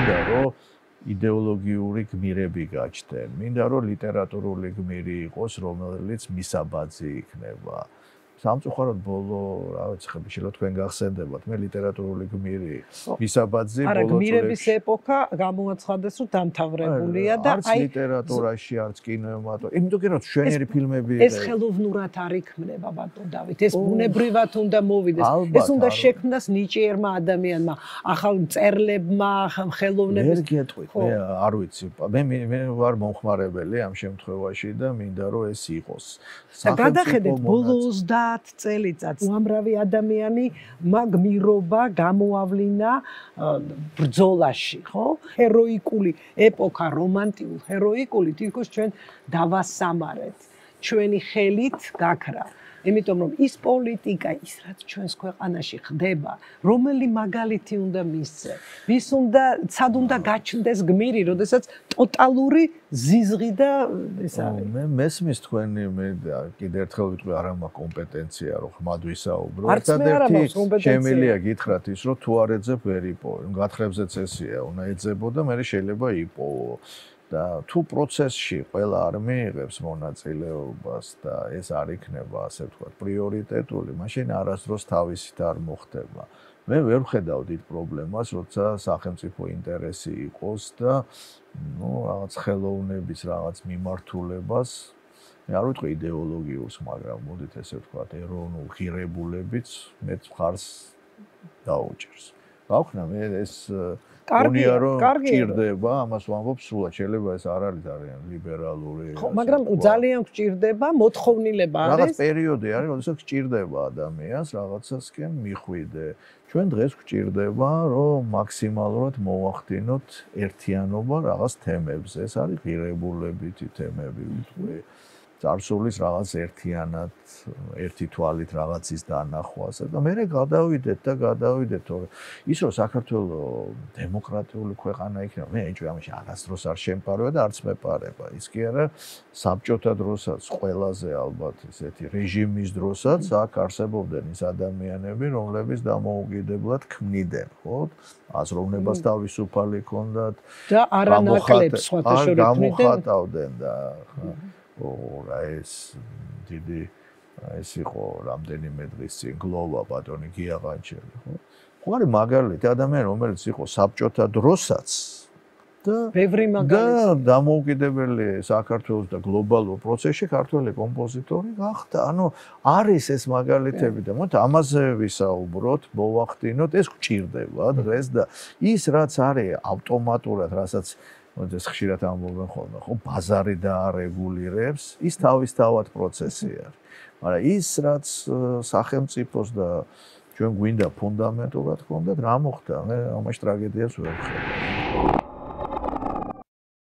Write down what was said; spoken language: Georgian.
მინდა რომ იდეოლოგიური გმირები გაჩნდნენ. მინდა რომ ლიტერატურული გმირი იყოს, რომელიც მისაბაძი იქნება. სამწუხაროდ ბოლო, რა ვიცი, ხებიშელა თქვენ გახსენდებათ, მე ლიტერატურული გმირი, მისაბაძი ბოლო წლებში. არა, გმირების ეპოქა გამოაცხადეს, რომ დამთავრებულია და არც ლიტერატურაში, არც კინემატოგრაფიაში. იმიტომ რომ შვენიერი ფილმები ეს ხელოვნურად არ იქმნება, ბატონ დავით. ეს ბუნებრივად უნდა მოვიდეს. ეს უნდა შექმნას ნიჭიერმა ადამიანმა, ახალ მწერლებმა, ხელოვნების. ვერ გეტყვით, მე არ ვიცი. მე ვარ მომხმარებელი ამ შემთხვევაში და მინდა რომ ეს იყოს. და გადახედეთ ბოლო 30 წელიწადს უამრავი ადამიანი გმირობა გამოავლინა ბრძოლაში, ხო? ჰეროიკული ეპოქა, რომანტიკული, ჰეროიკული თითქოს ჩვენ დავასამარეთ. ჩვენი ხელით გაქრა. იმიტომ რომ ის პოლიტიკა, ის რაც ჩვენს ქვეყანაში ხდება, რომელი მაგალითი უნდა მისცე? ვის უნდა, სად უნდა გაჩნდეს გმირი, როდესაც ტოტალური ზიზღი და ეს არის. მე მესმის თქვენი მე კიდევ ერთხელ ვიტყვი არა მაქვს კომპეტენცია რომ ხმად ვისაუბრო. ერთადერთი შემიძლია გითხრათ ის რომ თუ არ ეძებ ვერ იპოვო. გათხრებზეც ესეა, უნდა ეძებო და მე შეიძლება იპოვო. და თუ პროცესში ყველა არ მიიღებს მონაწილეობას და ეს არ იქნება ასე ვთქვათ პრიორიტეტული, მაშინ არასდროს თავისით არ მოხდება. მე ვერ ვხედავ დიდ პრობლემას, როცა სახელმწიფო ინტერესი იყოს და რაღაც ხელოვნების რაღაც მიმართულებას, მე არ ვიტყვი იდეოლოგიურს, მაგრამ მოდით ესე ვთქვათ, ეროვნულ ღირებულებიც მეც მხარს დაუჭერს. გავხნა მე ეს კარგია, ჭირდება, ამას ვამბობ სულად, შეიძლება ეს არ არის ძალიან ლიბერალური. ხო, მაგრამ ძალიან გჭირდება, მოთხოვნილება არის. რაღაც პერიოდი არის, როდესაც გჭირდება ადამიანს რაღაცასკენ მიხვიდე. ჩვენ დღეს გჭირდება, რომ მაქსიმალურად მოვახდინოთ ერთიანობა რაღაც თემებზე. ეს არის ღირებულებითი თემები, ვიტყვი. წარსულის რაღაც ერთიანად, ერთი თვალით რაღაცის დანახვას და მე გადავიდეთ, თორე ის რომ საქართველოს დემოკრატიული ქვეყანა იქნება, მე ეჭვი ამაში არასდროს არ შემპარება და არც მეპარება. ის კი არა, საბჭოთა დროსაც ყველაზე ალბათ ესეთი რეჟიმის დროსაც აქ არსებობდნენ ის ადამიანები, რომლებიც დამოუკიდებლად ქმნიდნენ, ხო? აზროვნებას თავისუფალი ჰქონდათ და არანაკლებ სხვათა შორის გამოხატავდნენ და რა ეს დიდი ეს იყო რამდენიმე დღის წინ გლოვა ბატონი გიაღანჩელი, ხო? ხო არის მაგალითი ადამიანი, რომელიც იყო საბჭოთა დროსაც და ბევრი მაგალითი და დამოუკიდებელი საქართველოს და გლობალურ პროცესში ქართველი კომპოზიტორი გახდა. ანუ არის ეს მაგალითები და მოდი ამაზე ვისაუბროთ, მოვახდინოთ, ეს გჭირდება დღეს და ის რაც არის ავტომატურად, რასაც ეს ხშირად ამბობენ ხოლმე, ხო, ბაზარი დაარეგულირებს, ის თავისთავად პროცესი არის. მაგრამ ის რაც სახელმწიფოს და ჩვენ გვინდა ფუნდამენტურად ჰქონდათ, რა მოხდა? მე ამაში ტრაგედიას ვერ ვხედავ.